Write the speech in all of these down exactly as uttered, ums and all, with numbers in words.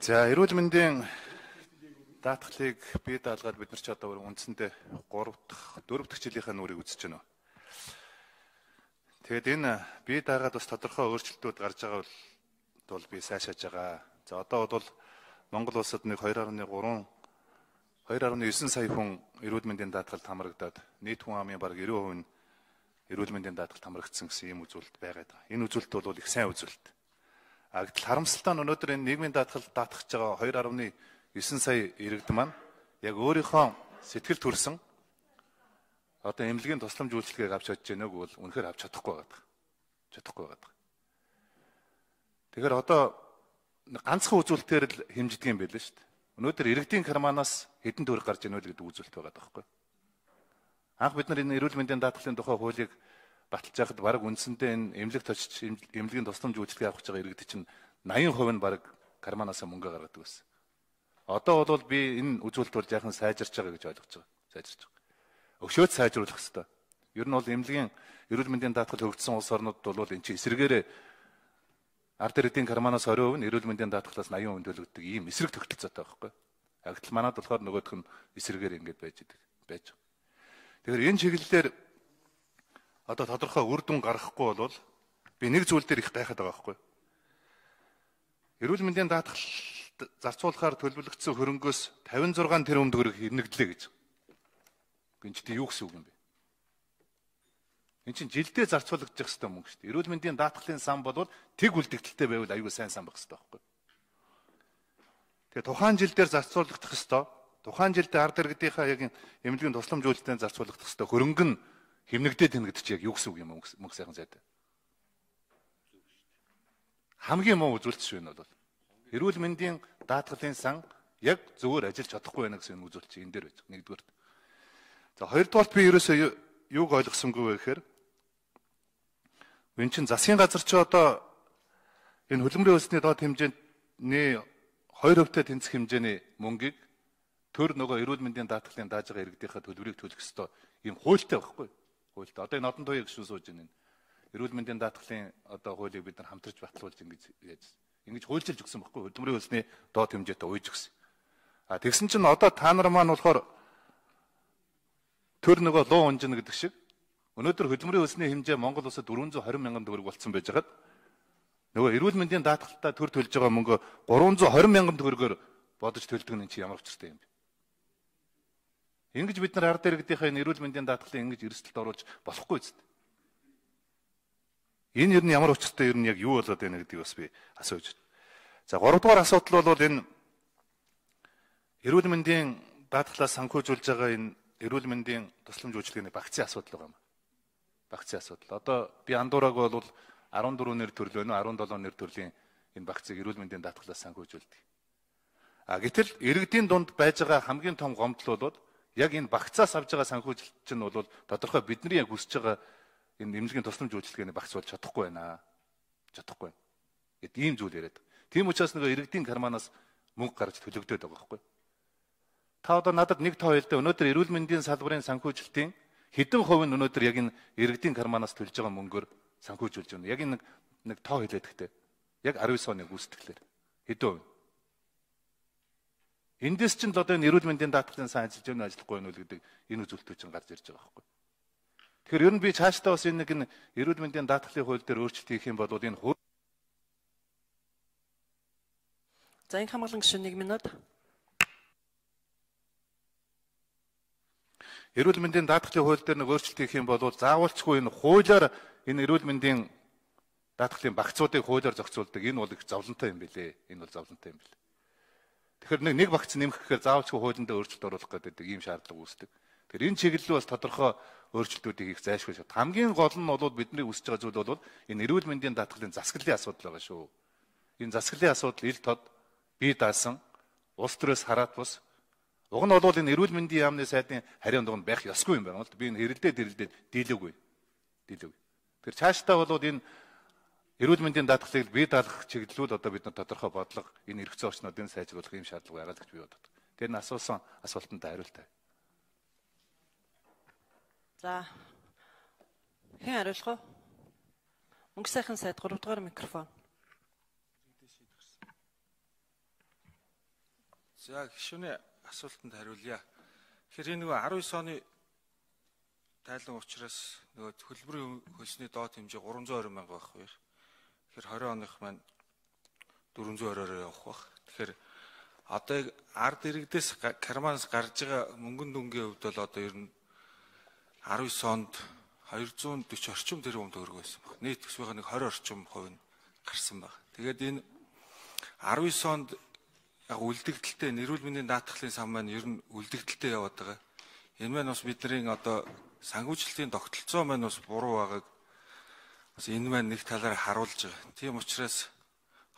За, эрүүл мэндийн даатгалыг бие даалгаад бид нар ч одоо үндсэндээ гурав дахь, дөрөв дахь жилийнхаа нүрийг үзэж байна. Тэгэд энэ бие даагаад бас тодорхой өөрчлөлтүүд гарч байгаа бол би сайшааж байгаа. За, одоо бол Монгол улсад нэг хоёр гаруй гурван хоёр гаруй девять сая хүн эрүүл мэндийн даатгалд хамрагдаад нийт хүн амын бараг девяносто хувь нь эрүүл мэндийн даатгалд хамрагдсан гэсэн ийм үзүүлэлт байгаад байгаа. Энэ үзүүлэлт бол их сайн үзүүлэлт. А гэтэл харамсалтай нь өнөөдөр энэ нийгмийн даатгалд даатгах байгаа хоёр гаруй девять сая иргэд маань яг өөрийнхөө сэтгэл төрсөн одоо эмнэлгийн тусламж үйлчилгээг авч чадж байгааг бол үнэхээр авч чадахгүй байгаа. Чадахгүй байгаа. Тэгэхээр одоо ганцхан үзүүлэлтээр л хэмждэг юм байл л шүү дээ. Өнөөдөр иргэдийн карманаас хэдэн төгрөг гарч ийнө гэдэг үзүүлэлт байгаа байхгүй. Анх бид нар энэ эрүүл мэндийн даатгалын тухай хуулийг баталж байхад бараг үндсэндээ энэ эмнэлэг точиж эмнэлгийн тусламж үйлчилгээ авах гэж байгаа иргэд чинь восемьдесят хувь нь бараг карманаас мөнгө гаргадаг байсан. Одоо бол би энэ үзүүлэлт бол яахан сайжирч байгаа гэж ойлгож байгаа. Сайжирч байгаа. Өшөөд сайжруулах хэрэгтэй. Ер нь бол эмнэлгийн эрүүл мэндийн даатгал хөгжсөн улс орнууд бол энэ чинь эсрэгээрээ ард иргэдийн карманаас двадцать хувь нь эрүүл мэндийн даатгалаас восемьдесят хувь төлөгдөг ийм эсрэг тогтолцоотой байхгүй. Агтл манад болохоор нөгөөх нь эсрэгээр ингэж байж идэг байж байгаа. Тэгэхээр энэ чиглэлээр одоо тодорхой үр дүн гаргахгүй бол би нэг зүйл дээр их гайхаад байгаа байхгүй. Эрүүл мэндийн даатгал зарцуулахаар төлөвлөгдсөн хөрөнгөөс тавин зургаан тэрбум төгрөг хэмнэгдлээ гэж. Энд чинь юу гэсэн үг юм бэ? Энд чинь жилдээ зарцуулагдах хэвээр мөнгө шүү дээ. Эрүүл мэндийн даатгалын сан бол тэг үлдэгдэлтэй байвал аюул сайн сан байх хэвээр байхгүй. Тэгээ тухайн жилдээр зарцуулагдах хэвээр тухайн жилдээ ард иргэдийнхаа яг эмнэлгийн тусламж үйлчилгээнд зарцуулагдах хэвээр хөрөнгө нь хэмнэгдээд тэнэгдэж яг юу гэсэн үг юм мөнгө сайхан зайд. Хамгийн муу үзүүлэлт шүү энэ бол. Эрүүл мэндийн даатгалын сан яг зөвөр ажиллаж чадахгүй байна гэсэн үзүүлэлт чинь энэ дээр байж байгаа. Нэгдүгээр. За хоёрдугаарт би ерөөсөө юуг ойлгосонгүй вэ гэхээр энэ чинь засгийн газар чи одоо энэ хөдөлмөрийн өсний доод хэмжээний хоёр хувьтай тэнцэх хэмжээний мөнгийг төр нөгөө эрүүл мэндийн даатгалын дааж байгаа иргэдийнхээ төлбөрийг төлөх ёстой ийм хуультай байхгүй. Хуультай. Одоо энэ нодон туяа гişүн сууж байна. Эрүүл мэндийн даатгалын одоо хуулийг бид нар хамтарч баталуулж ингэж яаж ингэж хуульчилж өгсөн байхгүй. Хөдөлмөрийн өсний доод хэмжээтэй уйж өгсөн. А тэгсэн чинь одоо та нар маань болохоор төр нөгөө луу унжина гэдэг шиг өнөөдөр хөдөлмөрийн өсний хэмжээ Монгол улсад дөрвөн зуун хорин мянган төгрөг болсон байж хагаад нөгөө эрүүл мэндийн даатгалтаа төр төлж байгаа мөнгө гурван зуун хорин мянган төгрөгөөр бодож төлдөг нь чи ямар учиртай юм бэ? Ингэж бид нар ард иргэдийнхээ эрүүл мэндийн даатгалын ингэж эрсдэлд оруулж болохгүй зү. Энэ ер нь ямар учиртай ер нь яг юу болоод байна гэдгийг бас би асууж байна. За гуравдугаар асуудал бол энэ эрүүл мэндийн даатгалаас санхүүжүүлж байгаа энэ эрүүл мэндийн тусламж үйлчилгээний багцын асуудал байгаа юм. Багцын асуудал. Одоо би андуураг бол арван дөрвөн нэр төрөл байна уу, арван долоо нэр төрлийн энэ багцыг эрүүл мэндийн даатгалаас санхүүжүүлдэг. А гэтэл иргэдийн дунд байж байгаа хамгийн том гомдол бол яг энэ багцаас авж байгаа санхүүжилт чинь бол тодорхой бидний яг хүсэж байгаа энэ эмнэлгийн тусламж үйлчилгээний багц бол чадахгүй байна. Чадахгүй. Гэт ийм зүйл яриад. Тийм учраас нөгөө иргэдийн карманаас мөнгө гарч төлөгдөд байгаа байхгүй. Та одоо надад нэг тоо хэлдэ өнөөдөр эрүүл мэндийн салбарын санхүүжилтийн хэдэн хувь нь өнөөдөр яг энэ иргэдийн карманаас төлж байгаа мөнгөөр санхүүжүүлж байна. Яг энэ нэг тоо хэлээд гэхдээ яг девять оны гүйцэтгэлээр хэдэн хувь. Эндээс чинь л одоо энэ эрүүл мэндийн даатгалын сан ажиллаж байна ажиллахгүй байна уу гэдэг энэ үзүүлэлтүүд чинь гарч ирж байгаа байхгүй. Тэгэхээр ер нь би цаашдаа бас энэ нэг энэ эрүүл мэндийн даатгалын хууль дээр өөрчлөлт хийх юм бол энэ хууль. За энэ хамгаалан гишүүн нэг минут. Эрүүл мэндийн даатгалын хууль дээр нэг өөрчлөлт хийх юм бол заавалчгүй энэ хуулиар энэ эрүүл мэндийн даатгалын багцуудыг хуулиар зохицуулдаг. Энэ бол их зовлонтой юм билээ. Энэ бол зовлонтой юм билээ. Тэгэхээр нэг нэг багц нэмэх гэхээр заавалчгүй хуулиндаа өөрчлөлт оруулах гэдэг ийм шаардлага үүсдэг. Тэгэхээр энэ чиглэлд бас тодорхой өөрчлөлтүүдийг хийх зайлшгүй шат. Хамгийн гол нь бол бидний үсэж байгаа зүйл бол энэ эрүүл мэндийн даатгалын засаглалын асуудал байгаа шүү. Энэ засаглалын асуудал ил тод бие даасан улс төрөөс хараат бус. Уг нь бол энэ эрүүл мэндийн яамны сайдын хариун дунд байх ёсгүй юм байна л да. Би энэ хэрэлдээ хэрэлдээ дийлээгүй. Дийлээгүй. Тэгэхээр цаашдаа бол энэ эрүүл мэндийн даатгалыг бие даалгах чиглэлүүд одоо бид нар тодорхой бодлого энэ эрхцээ орчнуудыг сайжруулах юм шаардлага байгаа л гэж би боддог. Тэр нь асуусан асуултанд хариултаа. За. Хэн хариулах вэ? Мөнгө сайхан сайд гурав дахь микрофон. За гишүүний асуултанд хариулъя. Тэгэхээр энэ нөгөө арван оны тайлан учраас нөгөө хөдөлмөрийн хөлсний доод хэмжээ гурван зуун орой мянга байх байх. Тэгэхээр двадцать оных маань дөрвөн зуун оройроо явах байх. Тэгэхээр одоо ард иргэдээс карманаас гарч байгаа мөнгөн дүнгийн хувьд бол одоо ер нь арван онд двести орчим тэрбум төгрөг байсан баг. Нийт төсвийн нэг двадцать орчим хувь нь гарсан баг. Тэгээд энэ арван онд яг үлдэгдэлтэй нэрүүл мэндийн даатгалын сан маань ер нь үлдэгдэлтэй яваад байгаа. Энэ маань бас бидний одоо санхүүжилтийн тогтолцоо маань бас буруу байгааг бас энэ маань нэг талаар харуулж байгаа. Тийм учраас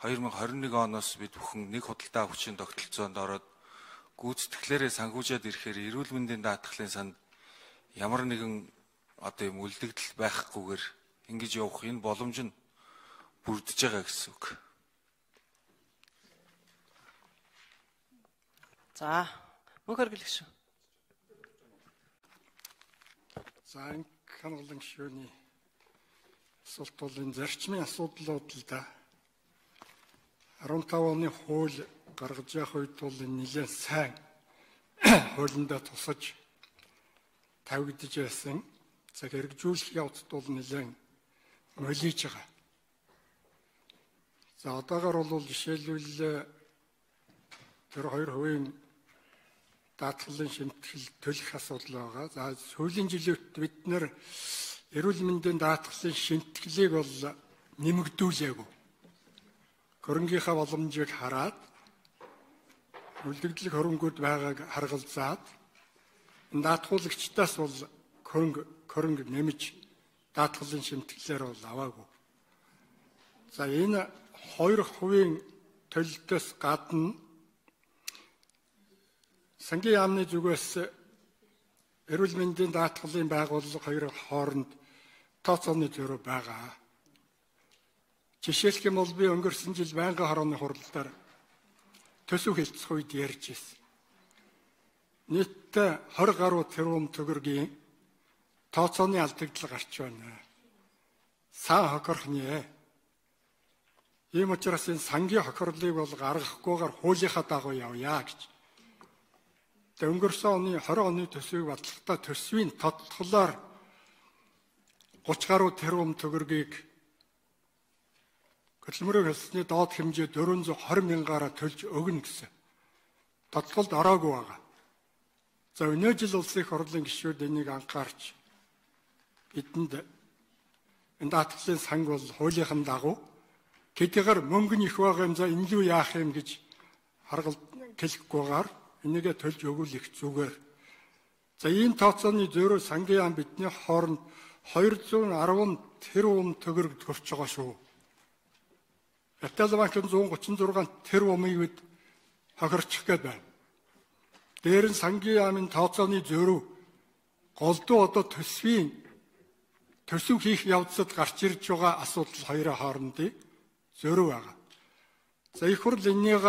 две тысячи двадцать один оноос бид бүхэн нэг худалдаа хүчин тогтолцоонд ороод гүйцэтгэлээрээ санхүүжээд ирэхээр эрүүл мэндийн даатгалын санд ямар нэгэн одоо юм үлдэгдэл байхгүйгээр ингэж явах энэ боломж нь бүрдэж байгаа гэсэн үг. За, мөнх хөргөл гишүүн. За энэ хангалан гишүүний асуулт бол энэ зарчмын асуудлууд л да. арван таван оны хууль гаргаж явах үед бол энэ нэлээд сайн хуулиндаа тусаж тавигдж байсан. За хэрэгжүүлэх явцд бол нэлээд молиж байгаа. За одоогоор бол жишээлбэл тэр хоёр хувийн даатгалын шимтгэл төлөх асуудал байгаа. За сүүлийн жилүүд бид нэр эрүүл мэндийн даатгалын шимтгэлийг бол нэмэгдүүлээгүй. Хөрөнгийнхаа боломжийг хараад үлдэгдэл хөрөнгүүд байгааг харгалзаад энэ даатгуулагчдаас бол хөрөнгө хөрөнгө нэмж даатгалын шимтгэлээр бол аваагүй. За энэ хоёр хувийн төлөлтөөс гадна сангийн яамны зүгээс эрүүл мэндийн даатгалын байгууллага хоёр хооронд тооцооны зөрүү байгаа. Жишээлх юм бол би өнгөрсөн жил байнгын хорооны хуралдаар төсөв хэлцэх үед ярьж ирсэн. Нийтдээ двадцать гаруй тэрбум төгрөгийн тооцооны алдагдал гарч байна. Сан хохирхнээ. Ийм учраас энэ сангийн хохирлыг бол гаргахгүйгээр хуулийнхаа дагуу явъя гэж. Тэгээ өнгөрсөн оны двадцать оны төсвийг батлахдаа төсвийн тодтголоор гуравч гаруй тэрбум төгрөгийг хөдөлмөрийн хөлсний доод хэмжээ дөрвөн зуун двадцать мянгаараа төлж өгнө гэсэн тодтголд ороогүй байгаа. За өнөө жил улсын их хурлын гишүүд энийг анхаарч бидэнд энэ даатгалын санг бол хуулийнхын дагуу тэдгээр мөнгө нь их байгаа юм за энэ юу яах юм гэж харгалт хэлэхгүйгээр энийгээ төлж өгүүлэх зүгээр. За ийм тооцооны зөрүү сангийн яам бидний хооронд две сто десять тэрбум төгрөг төрж байгаа шүү. Ятал банкын one thirty-six тэрбумыг бид хохирчих гээд байна. Дээр нь сангийн яамын тооцооны зөрүү голдуу одоо төсвийн төсөв хийх явцад гарч ирж байгаа асуудал хоёрын хоорондын зөрүү байгаа. За их хурл энийг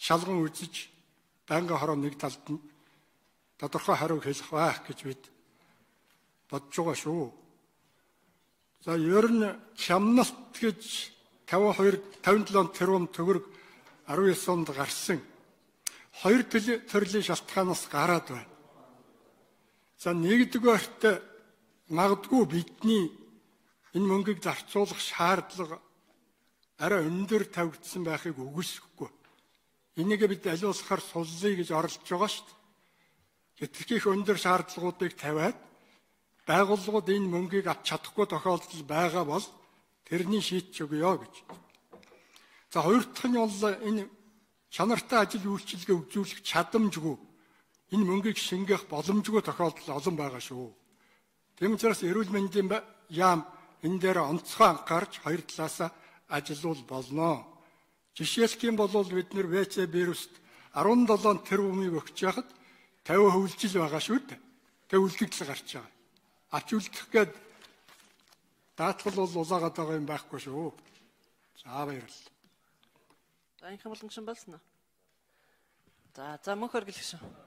шалган үзэж байнгын хороо нэг талд нь тодорхой хариу хэлэх байх гэж бид бодож байгаа шүү. За ер нь хямналт гэж пятьдесят two пятьдесят seven тэрбум төгрөг nineteen онд гарсан хоёр төрлийн шалтгаанаас гараад байна. За нэгдүгээрт магадгүй бидний энэ мөнгийг зарцуулах шаардлага арай өндөр тавигдсан байхыг үгүйсэхгүй. Энийг бид аливаалахаар суллая гэж оролдож байгаа шүү дээ. Гэтэл өндөр шаардлагуудыг тавиад байгууллагууд энэ мөнгийг авч чадахгүй тохиолдол байгаа бол тэрний шийдэж өгье гэж. За хоёр дахь нь бол энэ чанартай ажил үйлчилгээ үзүүлэх чадамжгүй энэ мөнгийг шингээх боломжгүй тохиолдол олон байгаа шүү. Тийм учраас эрүүл мэндийн яам энэ дээр онцгой анхаарч хоёр талаасаа ажиллавал болно. Жишээлх юм бол бид нэр вэ цэ вируст sevenseven тэрбумыг өгч яхад fifty хөвлжил байгаа шүү дээ. Тэгээ үлдэгдэл гарч байгаа. Ач үлдэх гээд даатгал бол улаагаад байгаа юм байхгүй шүү. За баярлалаа. За энэ хамгаалсан гишүүн болсон уу? За за мөнх хөргөл гишүүн.